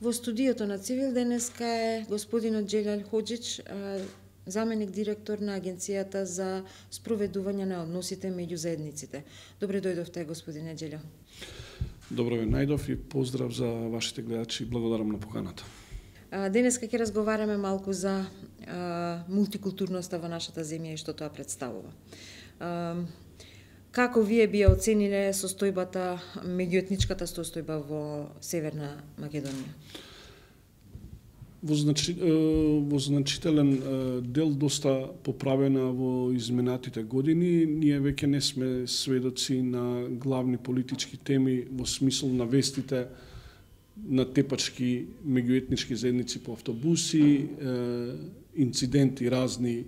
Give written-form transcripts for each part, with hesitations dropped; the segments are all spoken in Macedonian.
Во студиото на Цивил денеска е господинот Џелјал Хоџич, заменик директор на Агенцијата за спроведување на односите меѓу заедниците. Добре дојдовте, господине Џелјал. Добро ве најдов и поздрав за вашите гледачи. Благодарам на поканата. Денеска ќе разговараме малку за мултикултурноста во нашата земја и што тоа представува. Како вие би оцениле состојбата, меѓуетничката состојба во Северна Македонија? Во значителен дел доста поправена во изминатите години. Ние веќе не сме сведоци на главни политички теми во смисол на вестите на тепачки меѓуетнички заедници по автобуси, инциденти разни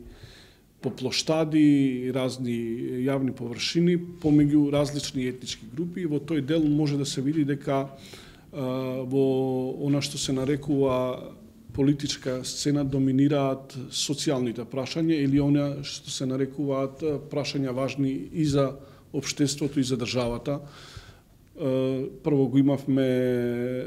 по плоштади, разни јавни површини помеѓу различни етнички групи. Во тој дел може да се види дека во она што се нарекува политичка сцена доминираат социјалните прашања или она што се нарекуваат прашања важни и за општеството и за државата. Прво го имавме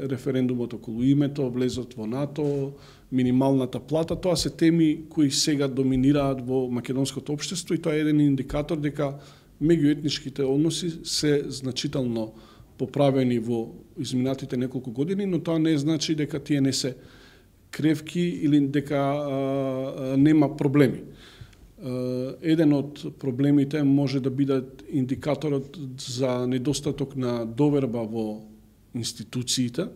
референдумот околу името, влезот во НАТО, минималната плата. Тоа се теми кои сега доминираат во македонското општество и тоа е еден индикатор дека меѓуетничките односи се значително поправени во изминатите неколку години, но тоа не значи дека тие не се кревки или дека нема проблеми. Еден од проблемите може да биде индикаторот за недостаток на доверба во институциите.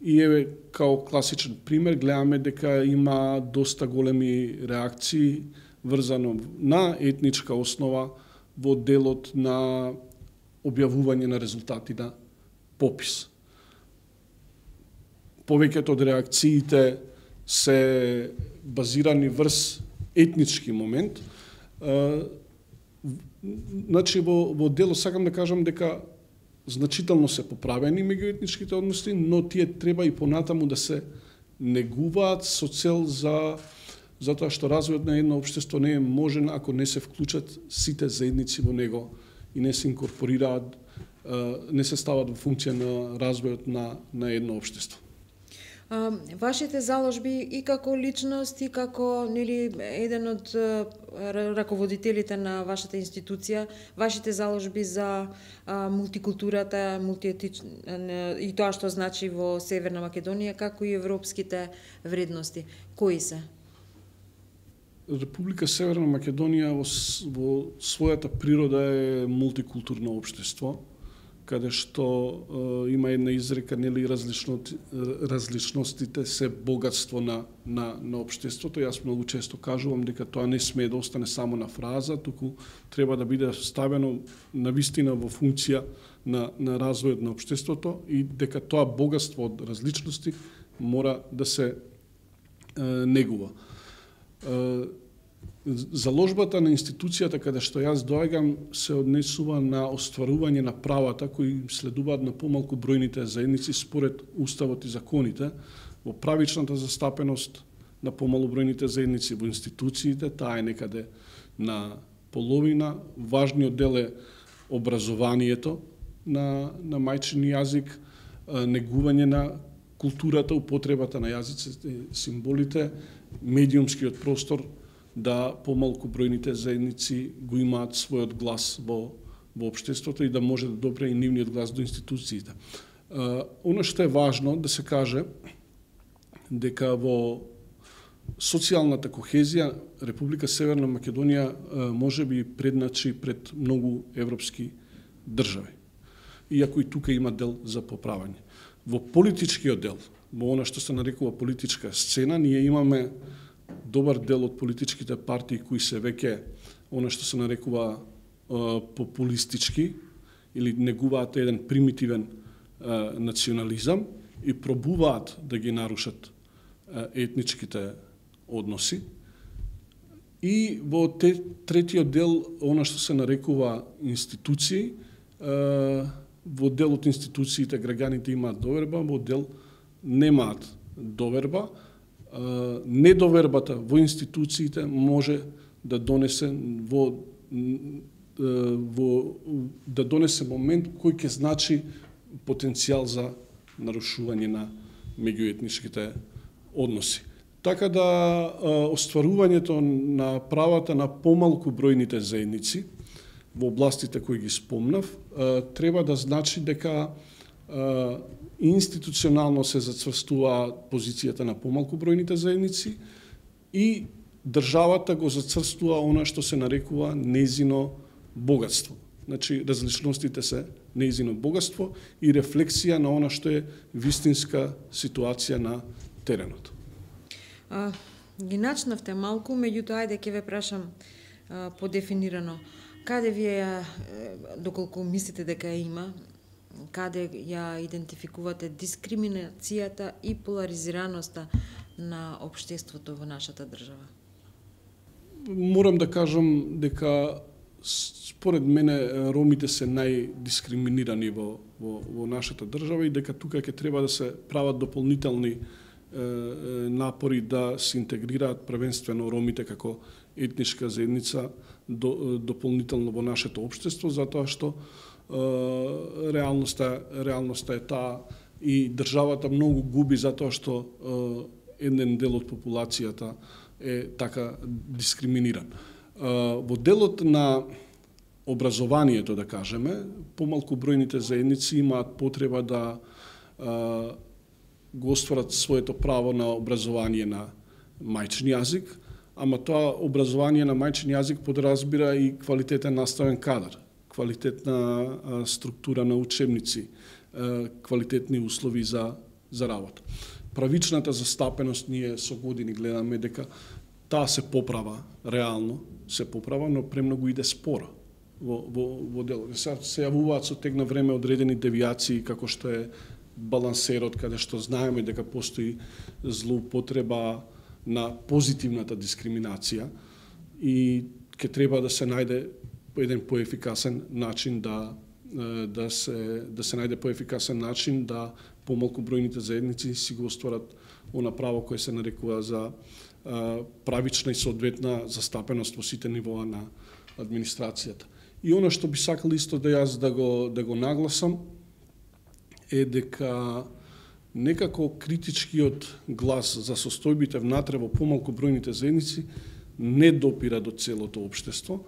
И еве, као класичен пример, гледаме дека има доста големи реакции врзано на етничка основа во делот на објавување на резултати на попис. Повеќето од реакциите се базирани врз етнички момент. Значи, во дело сакам да кажам дека значително се поправени меѓуетничките односи, но тие треба и понатаму да се негуваат со цел затоа што развојот на едно општество не е можен ако не се вклучат сите заедници во него и не се инкорпорираат, не се стават во функција на развојот на едно општество. Вашите заложби и како личност и како еден од раководителите на вашата институција, вашите заложби за мултикултурата, и тоа што значи во Северна Македонија, како и европските вредности, кои се? Република Северна Македонија во својата природа е мултикултурно општество, каде што има една изрека, нели, различностите се богатство на општеството. Јас многу често кажувам дека тоа не смее да остане само на фраза, туку треба да биде ставено навистина во функција на развојот на општеството и дека тоа богатство од различности мора да се негува. Заложбата на институцијата каде што јас доаѓам се однесува на остварување на правата кои следуваат на помалку бројните заедници според уставот и законите, во правичната застапеност на помалобројните заедници во институциите, таа е некаде на половина. Важниот дел е образованието на мајчин јазик, негување на културата, употребата на јазиците, символите, медиумскиот простор, да помалку бројните заедници го имаат својот глас во општеството и да може да допре и нивниот глас до институциите. Оно што е важно да се каже дека во социјалната кохезија Република Северна Македонија може би предначи пред многу европски држави. Иако и тука има дел за поправање. Во политичкиот дел, во она што се нарекува политичка сцена, ние имаме добар дел од политичките партии кои се веќе она што се нарекува популистички или негуваат еден примитивен национализам и пробуваат да ги нарушат етничките односи. И во третиот дел, она што се нарекува институции, во дел од институциите граѓаните имаат доверба, во дел немаат доверба. Недовербата во институциите може да донесе момент кој ќе значи потенцијал за нарушување меѓуетничките односи. Така да остварувањето на правата на помалку бројните заедници во областите кои ги спомнав треба да значи дека институционално се зацврстува позицијата на помалку бројните заедници и државата го зацврстува она што се нарекува нејзино богатство. Значи, различностите се нејзино богатство и рефлексија на она што е вистинска ситуација на теренот. Ги начнавте малку, меѓутоа ајде ќе ве прашам подефинирано. Каде вие, доколку мислите дека ја има, каде ја идентификувате дискриминацијата и поларизираноста на општеството во нашата држава? Морам да кажам дека според мене ромите се најдискриминирани во нашата држава и дека тука ќе треба да се прават дополнителни напори да се интегрираат првенствено ромите како етничка заедница дополнително во нашето општество, затоа што реалноста е таа и државата многу губи затоа што еден дел од популацијата е така дискриминиран. Во делот на образованието, да кажеме, помалку бројните заедници имаат потреба да го остварат своето право на образование на мајчин јазик, ама тоа образование на мајчин јазик подразбира и квалитетен наставен кадар, квалитетна структура на учебници, квалитетни услови за работа. Правичната застапеност ние со години гледаме дека таа се поправа, реално се поправа, но премногу иде споро во делот. Се јавуваат со тек на време одредени девијации како што е балансерот, каде што знаеме дека постои злоупотреба на позитивната дискриминација и ќе треба да се најде еден поефикасен начин да се најде поефикасен начин да помалку бројните заедници си го остварат она право кое се нарекува за правична и соодветна застапеност во сите нивоа на администрацијата. И она што би сакал исто да јас да го нагласам е дека некако критичкиот глас за состојбите внатре во помалку бројните заедници не допира до целото општество.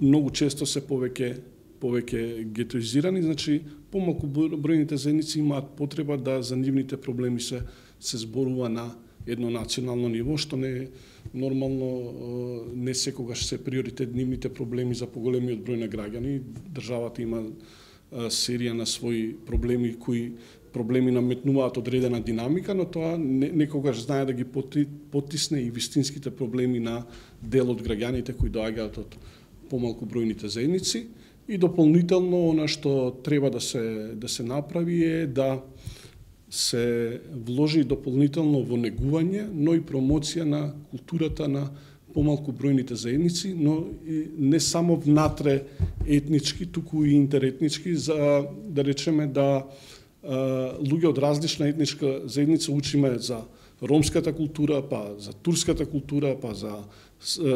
Многу често се повеќе гетоизирани, значи помалку бројните заедници имаат потреба да за нивните проблеми се зборува на едно национално ниво, што не е нормално, не секогаш се приоритет нивните проблеми за поголемиот број на граѓани. Државата има серија на своји проблеми кои проблеми наметнуваат одредена динамика, но тоа некогаш знае да ги потисне и вистинските проблеми на дел од граѓаните кои доаѓаат од помалку бројните заедници. И дополнително она што треба да се направи е да се вложи дополнително во негување, но и промоција на културата на помалку бројните заедници, но и не само внатре етнички, туку и интеретнички, за да речеме да луѓе од различна етничка заедница учиме за ромската култура, па за турската култура, па за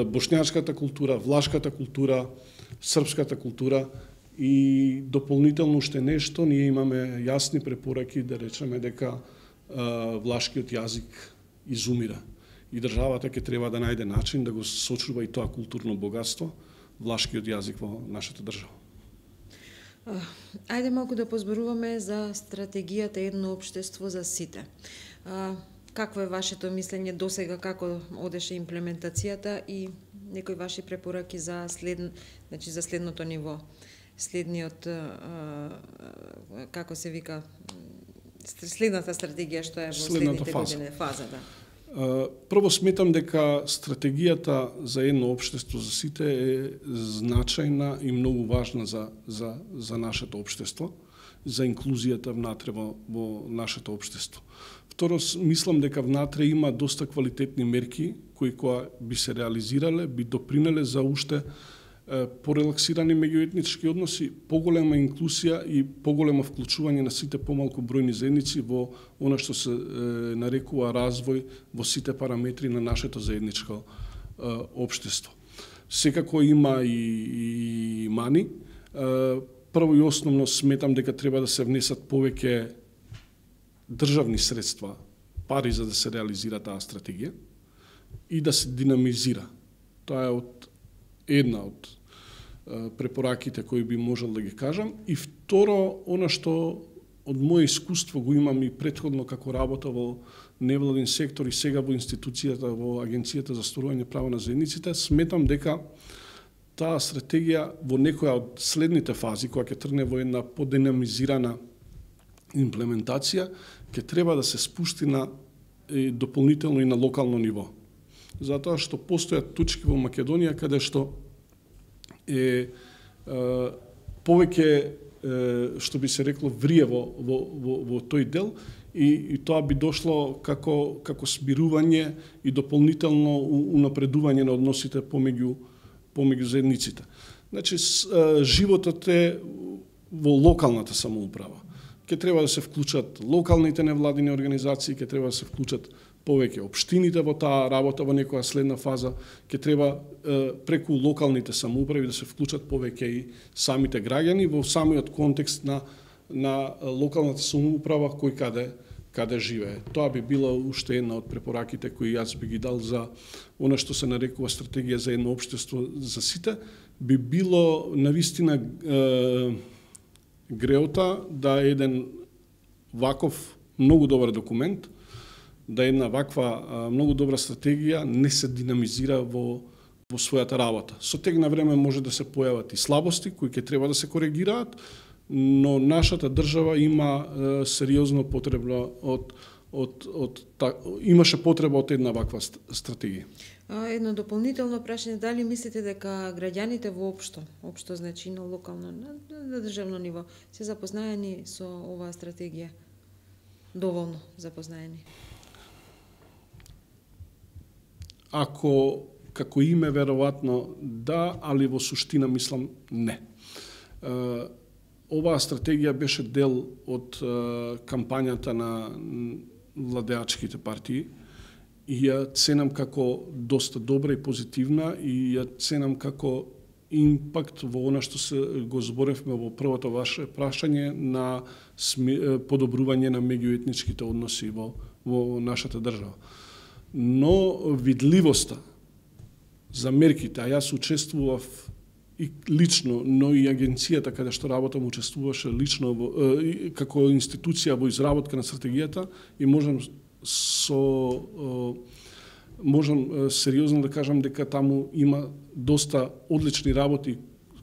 бошњачката култура, влашката култура, српската култура и дополнително уште нешто, ние имаме јасни препораки да речеме дека влашкиот јазик изумира и државата ќе треба да најде начин да го сочува и тоа културно богатство, влашкиот јазик во нашата држава. Ајде малку да позборуваме за стратегијата едно општество за сите. Какво е вашето мислење досега, како одеше имплементацијата и некои ваши препораки за следното ниво, следниот, како се вика, следната стратегија што е во следните години, фаза, да. Прво сметам дека стратегијата за едно општество за сите е значајна и многу важна за нашето општество, за инклузијата внатре во нашето општество. Второ, мислам дека внатре има доста квалитетни мерки кои кога би се реализирале, би допринеле за уште порелаксирани меѓуетнички односи, поголема инклузија и поголемо вклучување на сите помалку бројни заедници во она што се нарекува развој во сите параметри на нашето заедничко општество. Секако има и мани. Прво и основно сметам дека треба да се внесат повеќе државни средства, пари за да се реализира таа стратегија и да се динамизира. Тоа е една од препораките кои би можел да ги кажам. И второ, она што од моje искуство го имам и претходно како работа во невладин сектор и сега во институцијата, во Агенцијата за остварување права на заедниците, сметам дека таа стратегија во некоја од следните фази, која ќе тргне во една подинамизирана имплементација, ќе треба да се спусти на дополнително и на локално ниво. Затоа што постојат точки во Македонија каде што е повеќе што би се рекло врие во тој дел и тоа би дошло како смирување и дополнително унапредување на односите помеѓу заедниците. Значи животот е во локалната самоуправа. Ќе треба да се вклучат локалните невладини организации, ќе треба да се вклучат повеќе општините во таа работа во некоја следна фаза, ќе треба преку локалните самоуправи да се вклучат повеќе и самите граѓани во самиот контекст на локалната самоуправа кој каде живее. Тоа би била уште една од препораките кои јас би ги дал за она што се нарекува стратегија за едно општество за сите, би било навистина греота да еден ваков многу добар документ, да една ваква многу добра стратегија не се динамизира во својата работа. Со тек на време може да се појават и слабости кои ќе треба да се коригираат, но нашата држава има сериозно потреба имаше потреба од една ваква стратегија. Едно дополнително прашање, дали мислите дека граѓаните воопшто, значи на локално, на државно ниво, се запознаени со оваа стратегија? Доволно запознаени? Како име, веројатно да, али во суштина мислам не. Оваа стратегија беше дел од кампањата на владеачките партии и ја ценам како доста добра и позитивна и ја ценам како импакт во она што се го зборевме во првото ваше прашање на подобрување на меѓуетничките односи во нашата држава. Но видливоста за мерките, а јас учествував и лично, но и агенцијата каде што работам учествуваше лично како институција во изработка на стратегијата и можам сериозно да кажам дека таму има доста одлични работи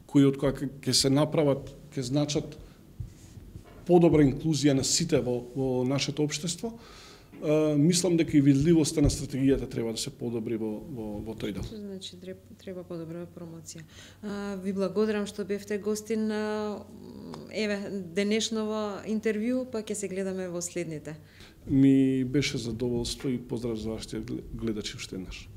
кои од кои ќе се направат, ќе значат подобра инклузија на сите во нашето општество. Мислам дека и видливоста на стратегијата треба да се подобри во тој дел. Значи треба подобра промоција. Ви благодарам што бевте гостин на денешново интервју, па ќе се гледаме во следните. Ми беше задоволство и поздрав за вашите гледачи уште еднаш.